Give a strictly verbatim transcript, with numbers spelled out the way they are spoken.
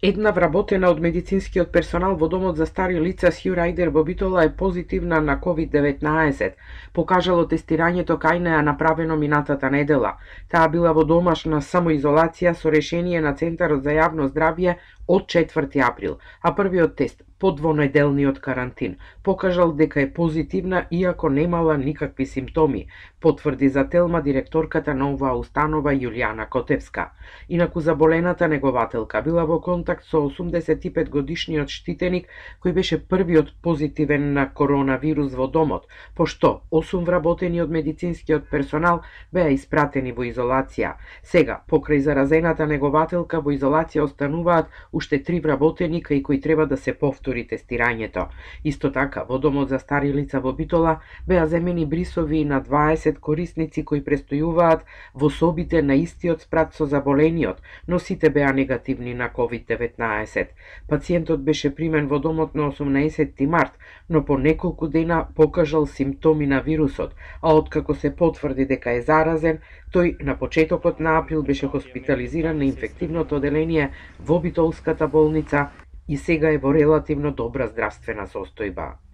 Една вработена од медицинскиот персонал во домот за стари лица Сју Рајдер во Битола е позитивна на ковид деветнаесет, покажало тестирањето кај неа направено минатата недела. Таа била во домашна самоизолација со решение на Центарот за јавно здравје од четврти април, а првиот тест по двонеделниот карантин покажал дека е позитивна иако немала никакви симптоми, потврди за Телма директорката на оваа установа Јулијана Котевска. Инаку заболената негователка била во контакт со осумдесет и пет годишниот штитеник кој беше првиот позитивен на коронавирус во домот, пошто осум вработени од медицинскиот персонал беа испратени во изолација. Сега, покрај заразената негователка во изолација остануваат уште три вработени кај кои треба да се повтори тестирањето. Исто така, во домот за стари лица во Битола беа земени брисови на дваесет корисници кои престојуваат во собите на истиот спрат со заболениот, но сите беа негативни на ковид деветнаесет. Пациентот беше примен во домот на осумнаесетти март, но по неколку дена покажал симптоми на вирусот, а откако се потврди дека е заразен, тој на почетокот на април беше хоспитализиран на инфективното оделение во Битолската болница и сега е во релативно добра здравствена состојба.